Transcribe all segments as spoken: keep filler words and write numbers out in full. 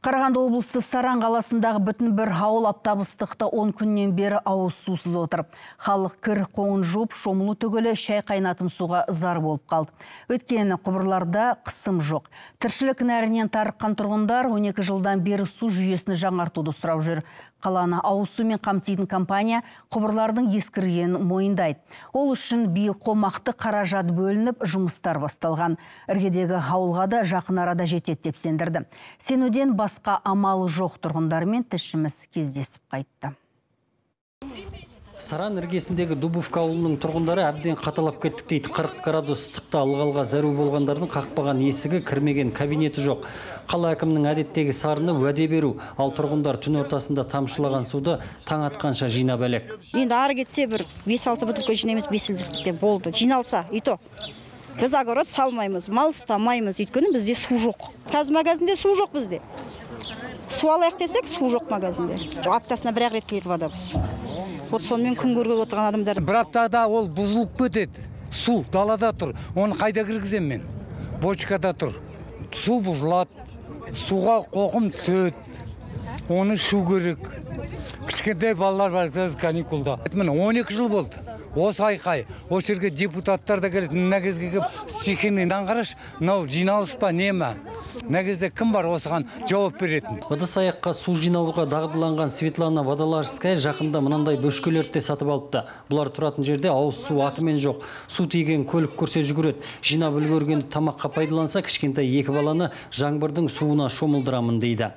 Қарағанды облысы Саран қаласындағы бүтін бір ауыл аптап ыстықта он күннен бері ауыз сусыз отыр. Халық кір қоңын жуып, шомылу түгілі шай қайнатым суға зар болып қалды. Өйткені құбырларда қысым жоқ. Тіршілік нәрінен тарыққан тұрғындар он екі жылдан бері су жүйесін жаңартуды сұрап жүр. Қаланы ауыз сумен қамтитын компания құбырлардың ескіргенін мойындайды. Ол үшін биыл қомақты қаражат бөлініп, жұмыстар басталған. Іргедегі ауылға да жақын арада жетеді деп сендірді. Сенуден басқа амалы жоқ тұрғындармен тілшіміз кездесіп қайтты. Саран іргесіндегі Дубовка ауылының тұрғындары әбден қаталап кеттік дейді. қырық градус ыстықта алғалға зәру болғандардың қақпаған есігі, кірмеген кабинеті жоқ. Қала әкімінің әдеттегі сарыны уәде беру, ал тұрғындар түн ортасында тамшылаған суды таң атқанша жинап әлек. Енді ары кетсе бір бес алты бутылка жинаймыз, бес литрде болды. Жиналса, ито. Біз огород салмаймыз, мал ұстамаймыз, өйткені бізде су жоқ. Қазір магазинде су жоқ бізде. Су алайық десек, су жоқ магазинде. Аптасына бір ақ рет келеді водабыз. Вот сонымен күн көріп отырған адамдар. Бір аптада ол бұзылып кетеді. Су далада тұр. Оны қайда кіргізем мен? Бочкада тұр. Су бұзылады. Суға қоқым түседі. Оны шу керек. Кішкентай балалар бар каникулда. Міне он екі жыл болды. Осы айқай, осы жерге депутаттар да келеді, мына кезге келіп, стихийный қараш, мынау жиналыс па, не ма? Мына кезде кім бар осыған жауап беретін? Ыдыс-аяққа су жинауға дағдыланған Светлана Водолажская жақында мынандай бөшкелерді сатып алыпты. Бұлар тұратын жерде ауыз су атымен жоқ. Су тиген көлік көрсе жүгіреді. Жинап үлгергенді тамаққа пайдаланса, кішкентай екі баланы жаңбырдың суына шомылдырамын дейді.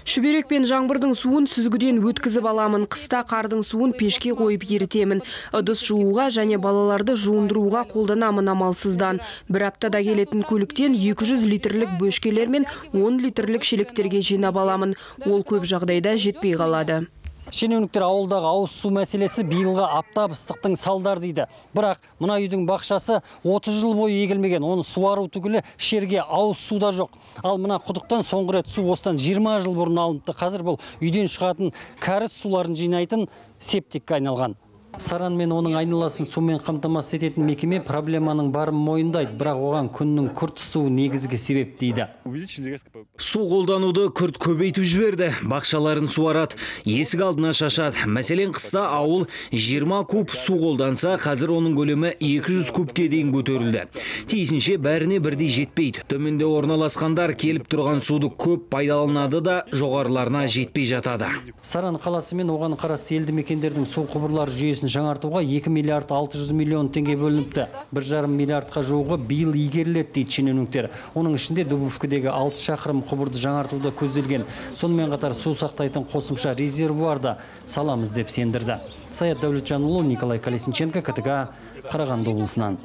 Шүберек пен жаңбырдың суын сүзгіден өткізіп аламын. Қыста қардың суын пешке қойып ерітемін. Ыдыс жууға және балаларды жуындыруға қолданамын амалсыздан. Бір аптада келетін көліктен екі жүз литрлік бөшкелер мен он литрлік шелектерге жинап аламын. Ол көп жағдайда жетпей қалады. Шенеуніктер ауылдағы ауыз су мәселесі биылға аптап ыстықтың салдар дейді. Бірақ мына үйдің бақшасы отыз жыл бойы егілмеген, оны суару түгілі шерге ауыз суда жоқ. Ал мына құдықтан соңғы рет су осыдан жиырма жыл бұрын алыныпты. Қазір бұл үйден шығатын кәріз суларын жинайтын септикке айналған. Саран мен оның айналасын сумен қамтамасыз ететін мекеме проблеманың барын мойындайды, бірақ оған күннің күрт ысуы негізгі себеп дейді. Су қолдануды күрт көбейтіп жіберді. Бақшаларын суарады, есік алдына шашады. Мәселен, қыста ауыл жиырма куб су қолданса, қазір оның көлемі екі жүз кубке дейін көтерілді. Тиісінше бәріне бірдей жетпейді. Төменде орналасқандар келіп тұрған суды көп пайдаланады да жоғарыларына жетпей жатады. Саран қаласы мен оған қарасты елді мекендердің су құбырлары жүйесін жаңартуға екі миллиард алты жүз миллион теңге бөлініпті. бір жарым миллиардқа жуығы биыл игеріледі дейді шенеуніктер. Оның ішінде Дубовкідегі алты шақырым құбырды жаңартуда көзделген. Сонымен қатар су сақтайтын қосымша резервуарда саламыз деп сендірді. Саят Дәулетжанұлы, Николай Колесниченко, КТК, Қарағанды облысынан.